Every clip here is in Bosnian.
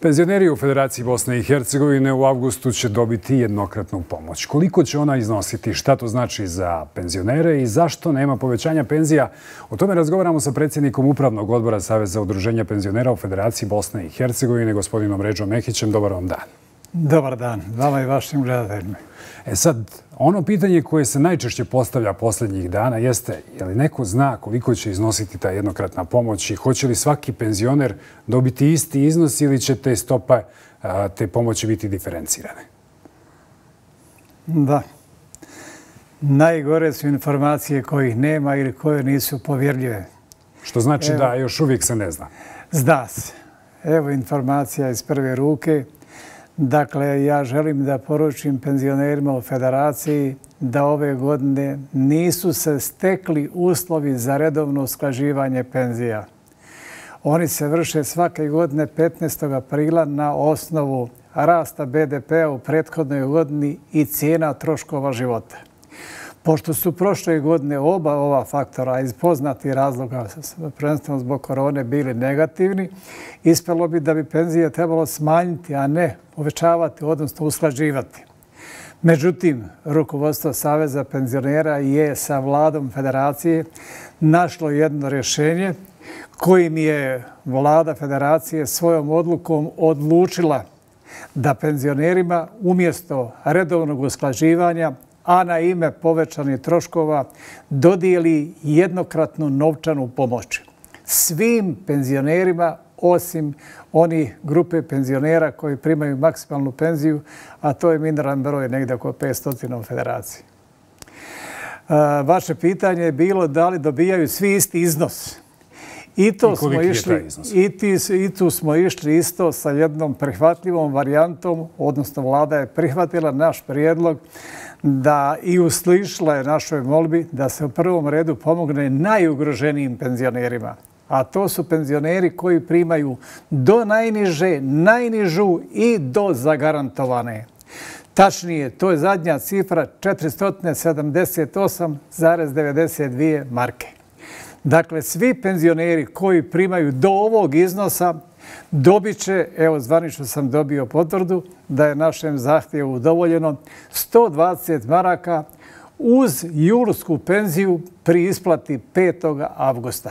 Penzioneri u Federaciji Bosne i Hercegovine u avgustu će dobiti jednokratnu pomoć. Koliko će ona iznositi, šta to znači za penzionere i zašto nema povećanja penzija? O tome razgovaramo sa predsjednikom Upravnog odbora Saveza udruženja penzionera u Federaciji Bosne i Hercegovine, gospodinom Redžom Mehićem. Dobar vam dan. Dobar dan, vama i vašim gledateljima. Sad, ono pitanje koje se najčešće postavlja posljednjih dana jeste je li neko zna koliko će iznositi ta jednokratna pomoć i hoće li svaki penzioner dobiti isti iznos ili će te stope te pomoći biti diferencirane? Da. Najgore su informacije kojih nema ili koje nisu povjerljive. Što znači da još uvijek se ne zna? Zna se. Evo informacija iz prve ruke. Dakle, ja želim da poručim penzionerima u Federaciji da ove godine nisu se stekli uslovi za redovno usklađivanje penzija. Oni se vrše svake godine 15. aprila na osnovu rasta BDP-a u prethodnoj godini i cijena troškova života. Pošto su prošle godine oba ova faktora iz poznatih razloga, prvenstveno zbog korone, bili negativni, ispalo bi da bi penzije trebalo smanjiti, a ne povećavati, odnosno usklađivati. Međutim, rukovodstvo Saveza penzionera je sa vladom Federacije našlo jedno rješenje kojim je vlada Federacije svojom odlukom odlučila da penzionerima umjesto redovnog usklađivanja, a na ime povećanih troškova dodijeli jednokratnu novčanu pomoć svim penzionerima osim onih grupe penzionera koji primaju maksimalnu penziju, a to je minoran broj, negdje oko 500 u Federaciji. Vaše pitanje je bilo da li dobijaju svi isti iznos. I tu smo išli isto sa jednom prihvatljivom varijantom, odnosno vlada je prihvatila naš prijedlog da i uslišila je našoj molbi da se u prvom redu pomogne najugroženijim penzionerima. A to su penzioneri koji primaju do najniže, najnižu i do zagarantovane. Tačnije, to je zadnja cifra 478,92 marke. Dakle, svi penzioneri koji primaju do ovog iznosa dobit će, evo zvanično sam dobio potvrdu, da je našem zahtjevu udovoljeno 120 maraka uz julsku penziju pri isplati 5. avgusta.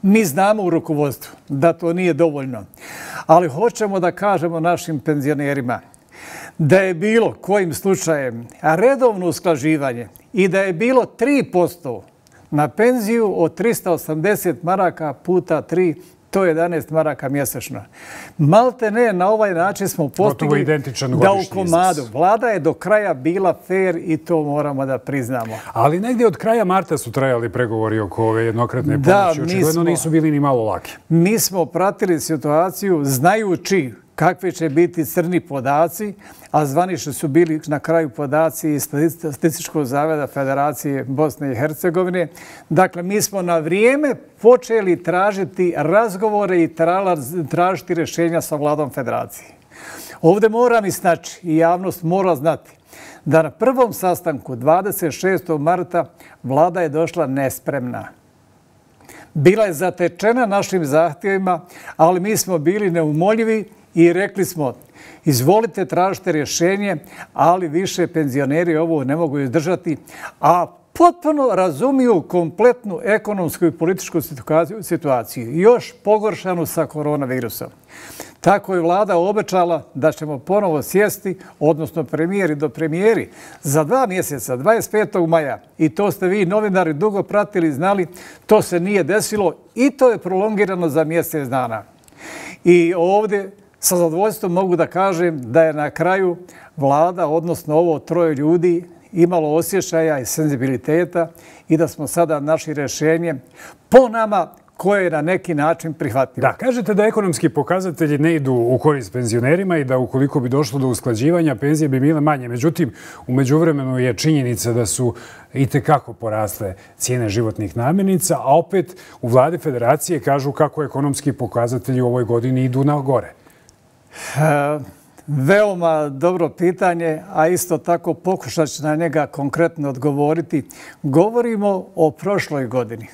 Mi znamo u rukovodstvu da to nije dovoljno, ali hoćemo da kažemo našim penzionerima da je bilo kojim slučajem redovno usklađivanje i da je bilo 3% na penziju od 380 maraka puta 3, to je 11 maraka mjesečno. Malte ne, na ovaj način smo postigli da u komadu. Vlada je do kraja bila fair i to moramo da priznamo. Ali negdje od kraja marta su trajali pregovori oko ove jednokratne pomoći. Očigledno nisu bili ni malo laki. Mi smo pratili situaciju znajući kakvi će biti crni podaci, a zvanično su bili na kraju podaci iz Statističkog zavoda Federacije Bosne i Hercegovine. Dakle, mi smo na vrijeme počeli tražiti razgovore i tražiti rješenja sa vladom Federacije. Ovdje moram istaći i javnost mora znati da na prvom sastanku 26. marta vlada je došla nespremna. Bila je zatečena našim zahtjevima, ali mi smo bili neumoljivi i rekli smo, izvolite, tražite rješenje, ali više penzioneri ovo ne mogu izdržati, a potpuno razumiju kompletnu ekonomsku i političku situaciju, još pogoršanu sa koronavirusom. Tako je vlada obećala da ćemo ponovo sjesti, odnosno premijer i do premijeri, za 2 mjeseca, 25. maja. I to ste vi, novinari, dugo pratili, znali, to se nije desilo i to je prolongirano za mjesec dana. I ovdje sa zadovoljstvom mogu da kažem da je na kraju vlada, odnosno ovo 3 ljudi, imalo osjećaja i senzibiliteta i da smo sada našli rješenje po nama koje je na neki način prihvatljivo. Da, kažete da ekonomski pokazatelji ne idu u korist penzionerima i da ukoliko bi došlo do usklađivanja, penzije bi bile manje. Međutim, u međuvremenu je činjenica da su itekako porasle cijene životnih namirnica, a opet u vladi Federacije kažu kako ekonomski pokazatelji u ovoj godini idu na gore. Veoma dobro pitanje, a isto tako pokušat ću na njega konkretno odgovoriti. Govorimo o prošloj godini.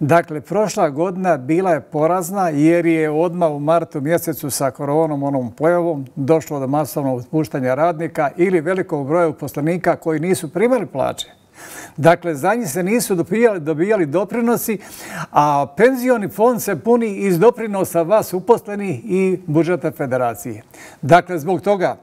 Dakle, prošla godina bila je porazna jer je odmah u martu mjesecu sa koronom, onom pojavom, došlo do masovnog otpuštanja radnika ili velikog broja uposlenika koji nisu primali plaće. Dakle, za njih se nisu dobijali doprinosi, a penzioni fond se puni iz doprinosa vas uposlenih i budžeta federacije. Dakle, zbog toga,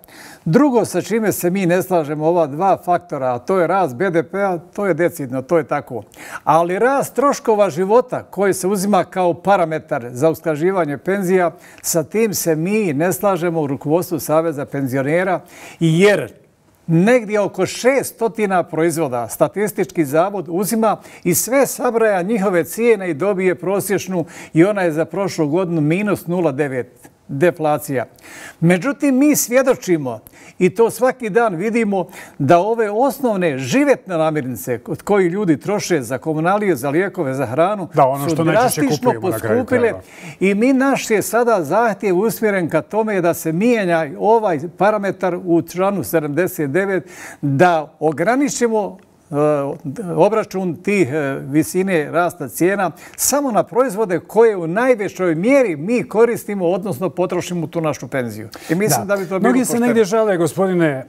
drugo sa čime se mi ne slažemo, ova dva faktora, a to je rast BDP-a, to je decidno, to je tako. Ali rast troškova života koji se uzima kao parametar za usklađivanje penzija, sa tim se mi ne slažemo u rukovodstvu Saveza penzionera, jer negdje oko 600 proizvoda Statistički zavod uzima i sve sabraja njihove cijene i dobije prosječnu i ona je za prošlu godinu minus 0,9 deflacija. Međutim, mi svjedočimo i to svaki dan vidimo da ove osnovne životne namirnice od koji ljudi troše za komunalije, za lijekove, za hranu su drastično poskupile i naš je sada zahtjev usmjeren ka tome da se mijenja ovaj parametar u članu 79 da ograničimo obračun tih visine rasta cijena samo na proizvode koje u najvećoj mjeri mi koristimo, odnosno potrošimo tu našu penziju. I mislim da bi to bilo pošteno. Mnogi se negdje žale, gospodine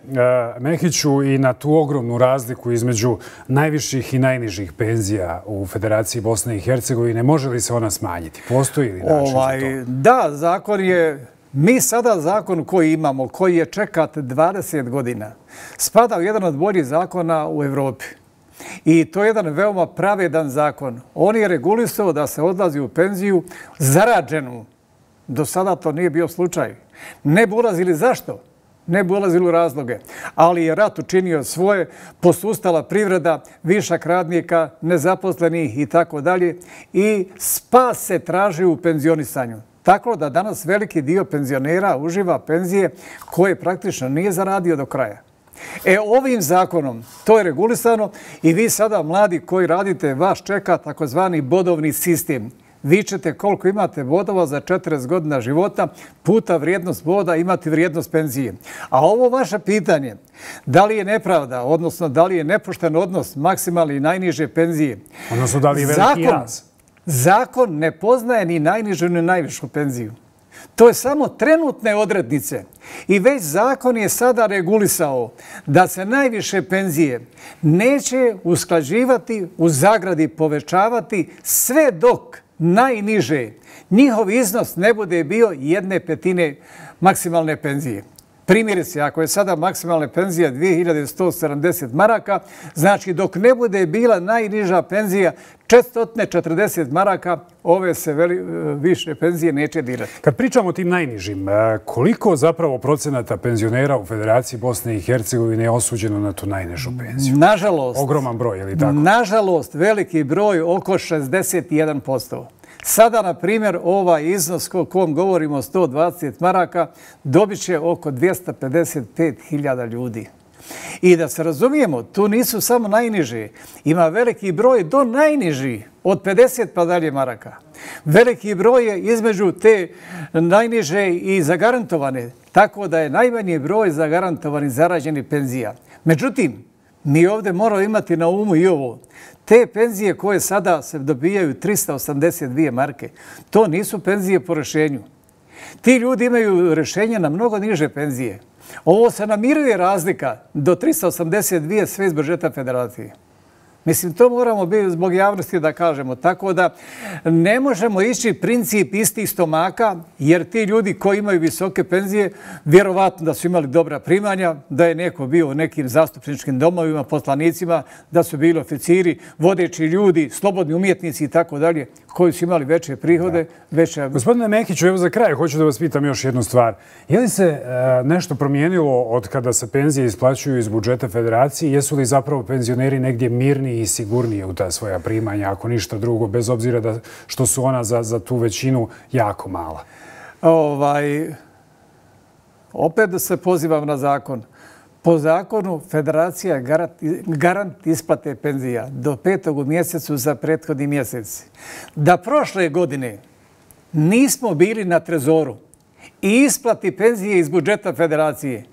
Mehiću, i na tu ogromnu razliku između najviših i najnižih penzija u Federaciji Bosne i Hercegovine. Može li se ona smanjiti? Postoji li način za to? Da, zakon je... Mi sada zakon koji imamo, koji je čekat 20 godina, spada u jedan od boljih zakona u Evropi. I to je jedan veoma pravedan zakon. On je regulisao da se odlazi u penziju zarađenu. Do sada to nije bio slučaj. Ne bi ulazili zašto? Ne bi ulazili u razloge. Ali je rat učinio svoje, posustala privreda, višak radnika, nezaposlenih i tako dalje. I spas se traži u penzionisanju. Tako da danas veliki dio penzionera uživa penzije koje praktično nije zaradio do kraja. Ovim zakonom to je regulisano i vi sada, mladi koji radite, vas čeka takozvani bodovni sistem. Vi ćete koliko imate bodova za 40 godina života, puta vrijednost boda imati vrijednost penzije. A ovo vaše pitanje, da li je nepravda, odnosno da li je nepošten odnos maksimalne i najniže penzije? Odnosno da li je veliki jaz? Zakon ne poznaje ni najnižu ni najvišu penziju. To je samo trenutne odrednice. I već zakon je sada regulisao da se najviše penzije neće usklađivati, u zagradi povećavati, sve dok najniže njihov iznos ne bude bio 1/5 maksimalne penzije. Primjerice, ako je sada maksimalna penzija 2170 maraka, znači dok ne bude bila najniža penzija 440 maraka, ove se više penzije neće dirati. Kad pričamo o tim najnižim, koliko zapravo procenata penzionera u Federaciji Bosne i Hercegovine je osuđeno na tu najnižu penziju? Nažalost. Ogroman broj, je li tako? Nažalost, veliki broj, oko 61%. Sada, na primjer, ovaj iznos o kom govorimo, 120 maraka, dobit će oko 255.000 ljudi. I da se razumijemo, tu nisu samo najniži. Ima veliki broj do najniži, od 50 pa dalje maraka. Veliki broj je između te najniže i zagarantovane, tako da je najmanji broj zagarantovanih zarađenih penzija. Međutim, mi ovdje moramo imati na umu i ovo. Te penzije koje sada se dobijaju 382 marke, to nisu penzije po rješenju. Ti ljudi imaju rješenje na mnogo niže penzije. Ovo se namiruje razlika do 382 sve iz budžeta federacije. Mislim, to moramo biti zbog javnosti da kažemo. Tako da ne možemo ići princip istih stomaka, jer ti ljudi koji imaju visoke penzije, vjerovatno da su imali dobra primanja, da je neko bio u nekim zastupničkim domovima, poslanicima, da su bili oficiri, vodeći ljudi, slobodni umjetnici i tako dalje, koji su imali veće prihode. Gospodine Mehiću, evo za kraj hoću da vas pitam još jednu stvar. Je li se nešto promijenilo od kada se penzije isplaćuju iz budžeta federacije? Jesu li zapravo penzioneri negdje mirni i sigurnije u ta svoja primanja, ako ništa drugo, bez obzira što su ona za tu većinu jako mala? Opet da se pozivam na zakon. Po zakonu federacija je garant isplate penzija do 5. u mjesecu za prethodni mjesec. Da prošle godine nismo bili na trezoru i isplati penzije iz budžeta federacije,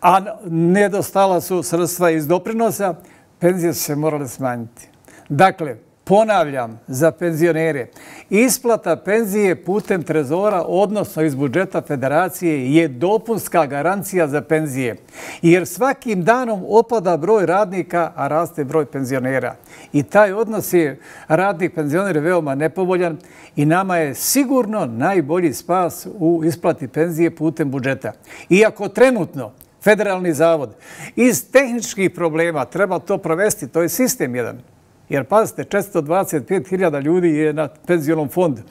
a nedostala su sredstva iz doprinosa, penzije su se morale smanjiti. Dakle, Ponavljam, za penzionere, isplata penzije putem trezora, odnosno iz budžeta federacije, je dopunska garancija za penzije. Jer svakim danom opada broj radnika, a raste broj penzionera. I taj odnos je radnik penzionera veoma nepovoljan i nama je sigurno najbolji spas u isplati penzije putem budžeta. Iako trenutno Federalni zavod iz tehničkih problema treba to provesti, to je sistem jedan. Jer, pazite, 425.000 ljudi je na penzionom fondu.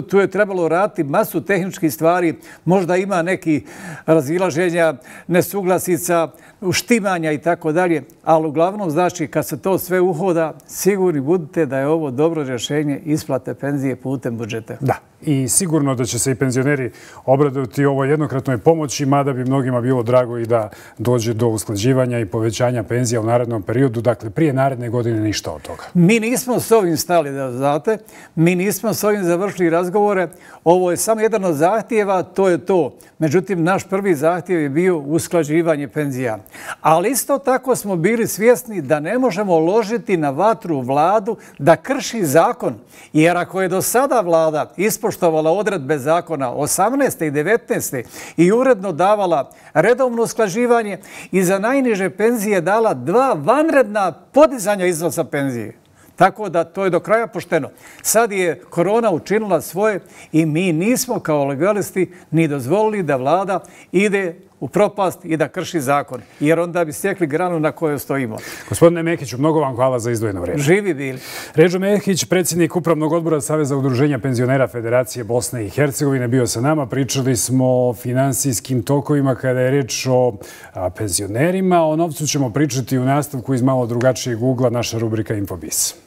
Tu je trebalo raditi masu tehničkih stvari, možda ima neki razilaženja, nesuglasica, uštimanja i tako dalje, ali uglavnom, znači, kad se to sve uhoda, sigurni budite da je ovo dobro rješenje isplate penzije putem budžeta. Da, i sigurno da će se i penzioneri obradovati ovoj jednokratnoj pomoći, mada bi mnogima bilo drago i da dođe do usklađivanja i povećanja penzija u narednom periodu, dakle, prije naredne godine ništa od toga. Mi nismo s ovim stali, da znate, mi nismo s ovim završili razgovore, ovo je samo jedan od zahtjeva, to je to. Međutim, naš prvi zahtjev je bio usklađivanje penzija. Ali isto tako smo bili svjesni da ne možemo ložiti na vatru vladu da krši zakon. Jer ako je do sada vlada ispoštovala odredbe zakona 18. i 19. i uredno davala redovno usklađivanje i za najniže penzije dala 2 vanredna podizanja iznosa penzije. Tako da to je do kraja pošteno. Sad je korona učinila svoje i mi nismo kao legalisti ni dozvolili da vlada ide u propast i da krši zakon. Jer onda bi stekli granu na kojoj stojimo. Gospodine Mekiću, mnogo vam hvala za izdvojeno vrijeme. Živi bili. Ređo Mekić, predsjednik Upravnog odbora Saveza udruženja penzionera Federacije Bosne i Hercegovine, bio sa nama. Pričali smo o finansijskim tokovima kada je reč o penzionerima. O novcu ćemo pričati u nastavku iz malo drugačijeg ugla, naša rubrika Infobis.